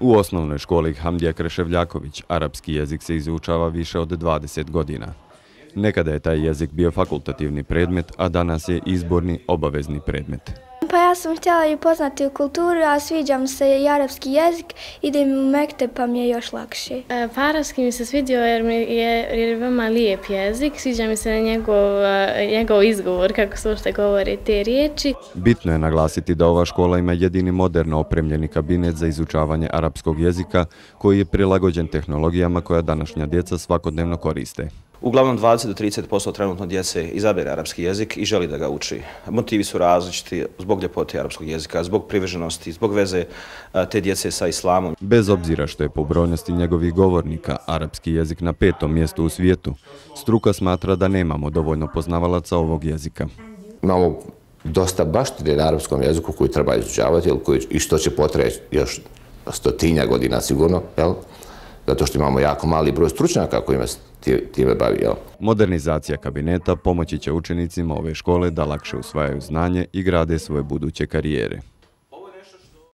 U osnovnoj školi Hamdija Kreševljaković arapski jezik se izučava više od 20 godina. Nekada je taj jezik bio fakultativni predmet, a danas je izborni obavezni predmet. Pa ja sam htjela i poznati u kulturu, a sviđa mi se i arapski jezik, idem u mekteb pa mi je još lakše. Pa arapski mi se svidio jer je veoma lijep jezik, sviđa mi se njegov izgovor, kako se uopšte govore te riječi. Bitno je naglasiti da ova škola ima jedini moderno opremljeni kabinet za izučavanje arapskog jezika koji je prilagođen tehnologijama koja današnja djeca svakodnevno koriste. Uglavnom 20 do 30% trenutno djece izabere arapski jezik i želi da ga uči. Motivi su različiti zbog ljepote arapskog jezika, zbog privrženosti, zbog veze te djece sa islamom. Bez obzira što je po brojnosti njegovih govornika arapski jezik na 5. mjestu u svijetu, struka smatra da nemamo dovoljno poznavalaca ovog jezika. Imamo dosta baštine na arapskom jeziku koji treba izučavati i što će potrajati još 100 godina sigurno, jel? Zato što imamo jako mali broj stručnjaka kojima se time bavi. Modernizacija kabineta pomoći će učenicima ove škole da lakše usvajaju znanje i grade svoje buduće karijere.